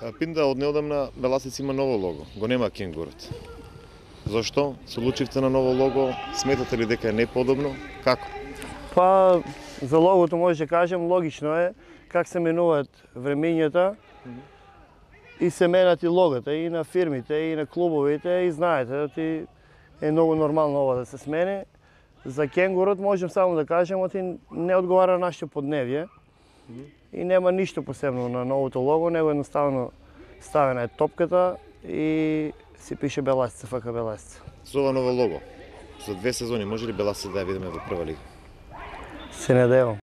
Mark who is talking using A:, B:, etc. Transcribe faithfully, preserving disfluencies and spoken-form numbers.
A: Пинда од неодамна Беласец има ново лого, го нема кенгурот. Зошто се одлучивте на ново лого? Сметате ли дека е неподобно? Како?
B: Па, за логото може да кажем, логично е как се менуваат времењата и се менат и логото и на фирмите, и на клубовите, и знаете, оти е многу нормално ова да се смени. За кенгурот можем само да кажем, оти не одговара на нашето подневје и нема ништо посебно на новото лого, него едноставно ставена е топката и си пише Беласец, ФК Беласец.
A: За ова ново лого, за две сезони може ли Беласец да ја видиме во прва лига?
B: Се надевам.